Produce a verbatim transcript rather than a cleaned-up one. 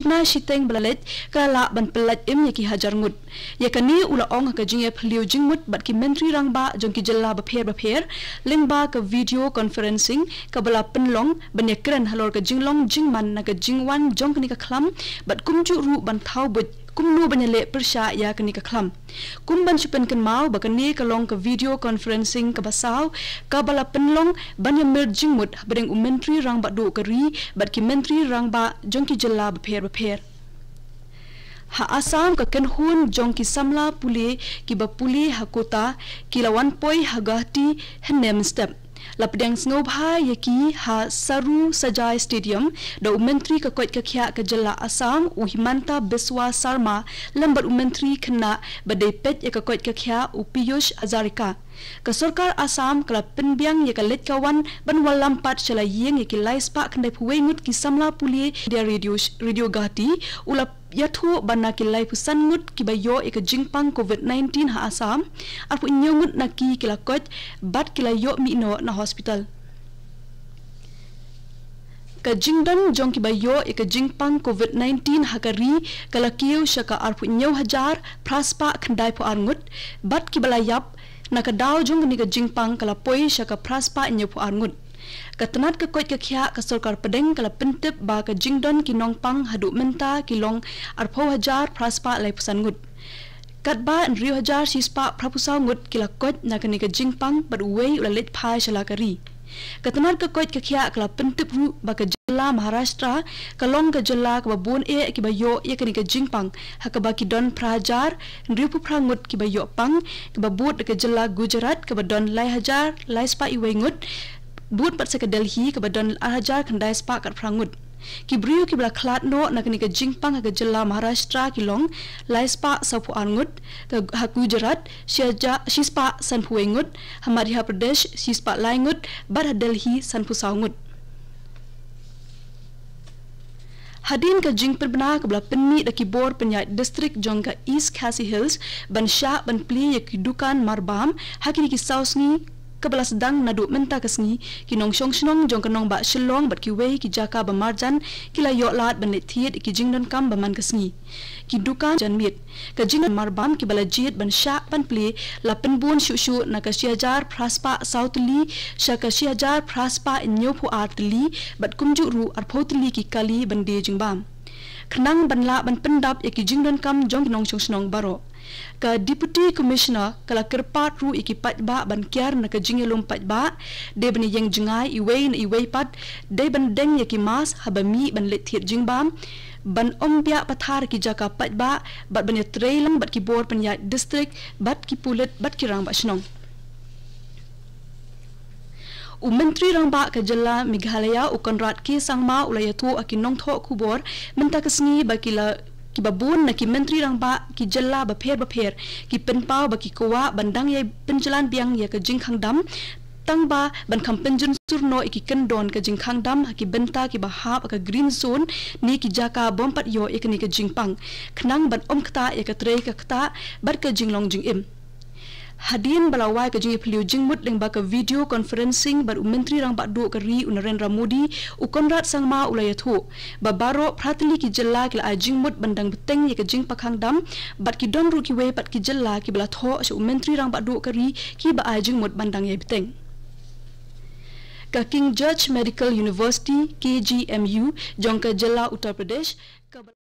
Na shiteng ba la leit ka la lah ban pyllait im ïa ki hajar ngut. Ïa kane u la ong ha ka jingïaphylliew jingmut bad ki myntri rangbah jong ki jylla bapher bapher lyngba ka video conferencing kaba la pynlong ban ïakren halor ka jinglong jingman na ka jingwan jong kane ka khlam bad kumjuh ruh ban thaw buit kumno ban ïaleh pyrshah ïa kane ka khlam. Kum ban shu pynkynmaw ba kane ka long ka video conferencing kaba saw kaba la pynlong ban ïamir jingmut hapdeng u myntri rangbah duh ka ri bad ki myntri rangbah jong ki jylla bapher bapher. Ha Assam ka kynhun jong ki samla pule kiba pule ha quota ki la wan poi ha Guwahati hynne mynstep. La pdiang sngewbha ïa ki ha Sarusajai Stadium da u myntri ka koit ka khiah ka jylla Assam u Himanta Biswa Sarma lem bad u myntri khynnah ba dei peit ïa ka koit ka khiah u Piyush Hazarika. Ka sorkar Assam ka la pynbiang ïa ka leit ka wan ban wallam pat sha la ïing ïa ki lai spah khyndai phew wei ngut ki samla pule India Radio, Radio Guwahati u la ïathuh ba na ki lai phew san ngut kiba ïoh ïa ka jingpang covid nineteen ha Assam, arphew hynñiew ngut na ki ki la koit bad ki la ïoh mih noh na hospital. Ka jingdon jong kiba ïoh ïa ka jingpang covid nineteen ha ka ri ka la kiew sha ka arphew hynñiew hajar phra spah khyndai phew ar ngut bad kiba la ïap na ka daw jong kane ka jingpang ka la poi sha ka phra spah hynñiew phew ar ngut. Ka tnat ka koit ka khiah ka sorkar pdeng ka la pyntip ba ka jingdon ki nongpang haduh mynta ki long arphew hajar phra spah lai phew san ngut. Katba hynriew hajar shi spah phra phew saw ngut ki la koit na kane ka jingpang bad uwei u la leit phai sha la ka ri. Ka tnat ka koit ka khiah ka la pyntip ruh ba ka jylla Maharashtra ka long ka jylla kaba bun eh kiba ïoh ïa kane ka jingpang ha kaba ki don phra hajar hynriew phew phra ngut kiba ïoh pang, kaba bud da ka jylla Gujarat kaba don lai hajar lai spah wei ngut, bud pat sa ka Delhi kaba don ar hajar khyndai spah khatphra ngut. Ki briew kiba la khlad noh na kane ka jingpang ha ka jylla Maharashtra ki long lai spah saw phew ar ngut, ka, ha Gujarat shi hajar, shi spah san phew wei ngut, ha Madhya Pradesh shi spah lai ngut bad ha Delhi san phew saw ngut. Hadien ka jingpynbna kaba la pynmih da ki bor pynïaid district jong ka East Khasi Hills ban shah ban plie ïa ki dukan marbam ha kine ki saw sngi kaba la sdang naduh mynta ka sngi, ki nongshong shnong jong ka nongbah Shillong bad kiwei ki jaka ba marjan ki la ïoh lad ban leit thied ïa ki jingdonkam ba man ka sngi. Ki dukan janmiet, ka jingmarbam kiba la jied ban shah ban plie la pynbun shuh shuh na ka shi hajar phra spah saw tylli sha ka shi hajar phra spah hynñiew phew ar tylli bad kumjuh ruh arphew tylli ki kali ban die jingbam. Khnang ban lah ban pyndap ïa ki jingdonkam jong ki nongshong shnong baroh, ka Deputy Commissioner ka la kyrpad ruh ïa ki paidbah ban kiar na ka jingïalum paidbah, dei ban ïeng jngai iwei na iwei pat, dei ban deng ïa ki mask haba mih ban leit thied jingbam, ban ym biah pathar ki jaka paidbah bad ban ïatrei lang bad ki bor pynïaid district bad ki pulit bad ki rangbah shnong. U Myntri Rangbah ka jylla Meghalaya u Conrad K Sangma u la ïathuh ha ki nongthoh khubor mynta ka sngi ba ki la, kiba bun na ki myntri rangbah ki jylla bapher bapher ki pynpaw ba ki kwah ban dang ïai pynjlan biang ïa ka jingkhang dam, tang ba ban kham pynjynsur noh ïa ki kyndon ka jingkhang dam ha ki bynta kiba hap ha ka green zone ne ki jaka bym pat ïoh ïa kane ka jingpang, khnang ban ym ktah ïa ka trei ka ktah bad ka jinglong jingim. Hadien ba la wai ka jingïaphylliew jingmut lyngba ka video conferencing bad u Myntri Rangbah duh ka ri u Narendra Modi, u Conrad Sangma u la ïathuh ba baroh phra tylli ki jylla ki la ai jingmut ban dang bteng ïa ka jingpang khang dam bad ki don ruh kiwei pat ki jylla kiba la thoh sha u Myntri Rangbah duh ka ri kiba ai jingmut ban dang ïai bteng. Ka King George Medical University, K G M U, jong ka jylla Uttar Pradesh, kaba